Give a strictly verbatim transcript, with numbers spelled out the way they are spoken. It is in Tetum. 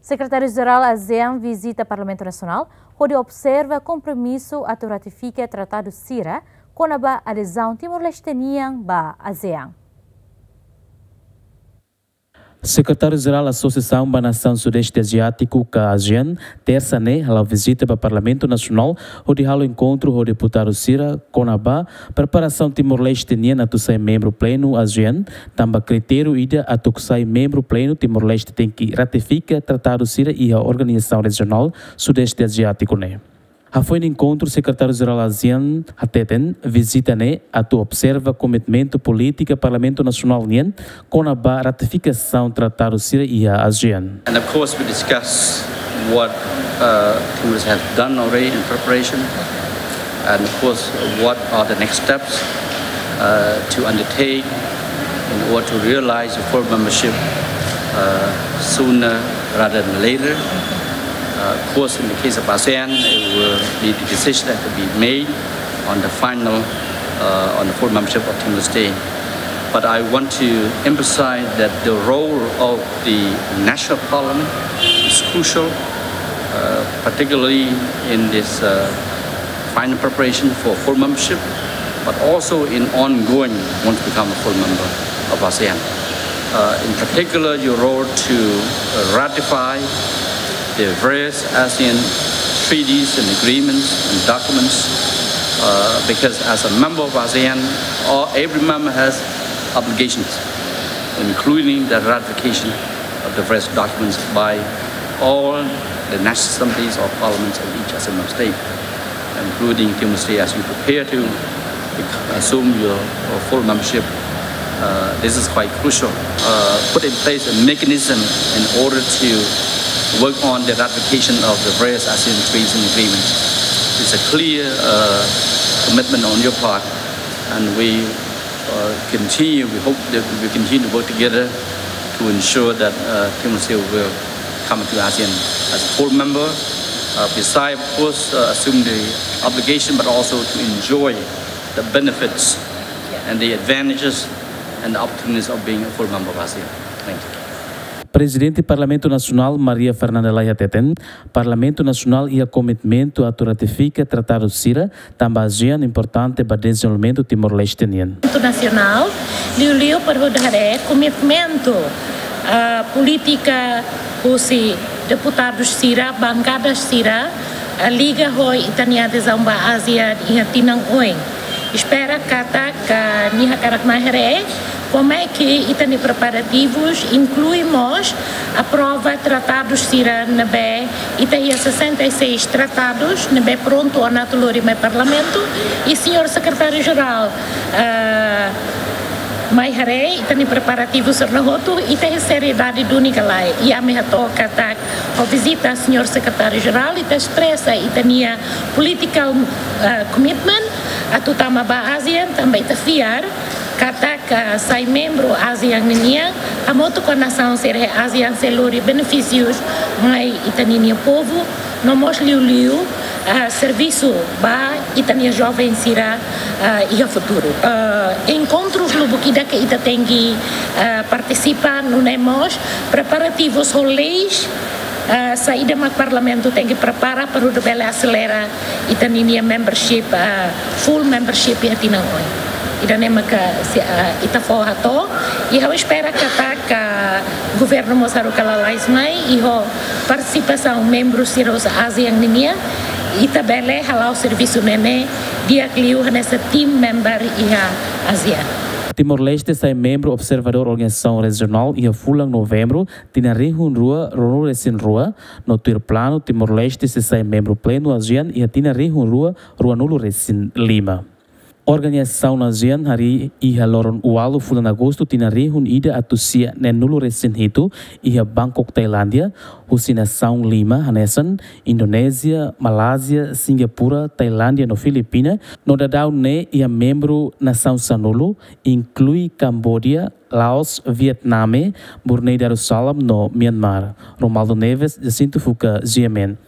Sekretáriu-Jerál ASEAN vizita Parlamentu Nasionál, hodi observa kompromisu atu ratifika tratadu sira kona-ba adezaun Timor-Leste nian ba ASEAN. Sekretáriu-Jerál Asosiasaun ba Nasaun Sudeste Aziátiku ka ASEAN, tersa ne'e, hala'o vizita ba Parlamentu Nasionál, hodi halo enkontru ho deputadu sira kona-ba preparasaun Timor-Leste nian atu sai membru plenu ASEAN, tanba kritériu ida atu sai membru plenu Timor-Leste tenke ratifika tratadu sira iha organizasaun rejionál Sudeste Aziátiku ne'e. Hafoin enkontru, Sekretáriu-Jerál ASEAN hateten, vizita ne'e atu observa komitmentu polítika Parlamentu Nasionál nian kona-ba ratifikasaun tratadu sira iha ASEAN. And of course, we discuss what uh, Timorese have done already in preparation, and of course, what are the next steps uh, to undertake in order to realize the full membership uh, sooner rather than later. Uh, of course, in the case of ASEAN, it will be the decision that will be made on the final, uh, on the full membership of Timor-Leste. But I want to emphasize that the role of the national parliament is crucial, uh, particularly in this uh, final preparation for full membership, but also in ongoing once become a full member of ASEAN. Uh, in particular, your role to uh, ratify the various ASEAN treaties and agreements and documents, uh, because as a member of ASEAN, all, every member has obligations, including the ratification of the various documents by all the national assemblies or parliaments of each ASEAN member state, including Timor-Leste, as you prepare to bec- assume your full membership. Uh, this is quite crucial. Uh, put in place a mechanism in order to work on the ratification of the various ASEAN treaties and agreements. It's a clear uh, commitment on your part, and we uh, continue, we hope that we continue to work together to ensure that uh, Timor-Leste will come to ASEAN as a full member. Uh, besides, of course, uh, assume the obligation, but also to enjoy the benefits and the advantages and the opportunities of being a full member of ASEAN. Thank you. Prezidente Parlamentu Nasionál Maria Fernanda Lay hateten, Parlamentu Nasionál iha komitmentu atu ratifika tratadu sira, tanba ASEAN importante ba dezenvolvimentu Timor-Leste nian. Parlamentu Nasionál, liuliu para hodi haree komitmentu ah, polítika husi deputadus sira, bankada sira, ah, liga ho ita-nia adezaun ba ASEAN iha tinan oin. Espera katak, ah, nia hakarak mai haree, como é que ita-nia preparativus inklui mós aprova tratadus sira ne'ebé ita iha sessenta e seis tratadus ne'ebé prontu ona atu lori mai Parlamentu, i señór Sekretáriu-Jerál, ah, mai haree ita-nia preparativu sira-ne'e hotu, ita iha seriedade duni ka lae. I ami hato'o katak ho vizita señór Sekretáriu-Jerál, ita espresa ita-nia political ah, commitment atu tama ba ASEAN, tanba ita fiar katak sai membru ASEAN ninian, hamutuk ho nasaun sira ASEAN sei lori benefísius mai ita-nia povu, no mós liuliu ah, servisu ba ita-nia joven sira ah, iha futuru. Ah, enkontrus lubuk ida ke ita tenke ah, partisipa, nune'e mós preparativus ho leis ah, saida mak Parlamentu tenke prepara para hodi bele aselera ita-nia membership, ah, full membership iha tinan oin. Ida-ne'e maka se, ah, ita fó hato'o, i ha'u espera katak governu mós haruka lalais mai, i ho partisipasaun membru sira husi ASEAN ninian, ita bele hala'o servisu ne'e di'ak liu hanesan team member iha ASEAN. Timor-Leste sai membru observadór organizasaun rejionál iha fulan Novembru, tinan rihun rua ruanulu-resin-rua, no tuir planu Timor-Leste sei sai membru plenu ASEAN iha tinan rihun rua ruanulu-resin-lima. Organizasaun ASEAN harii iha loron ualu fulan Agostu tinan rihun ida atus sia neenulu-resin-hitu iha Bangkok, Tailándia, husi nasaun lima hanesan Indonézia, Malázia, Singapura, Tailándia no Filipina, no daudaun ne'e iha membru nasaun sanulu, inklui Kamboja, Laos, Vietname, Brunei Darussalam no Myanmar. Romualdo Neves, Jacinto Fuca, G M N.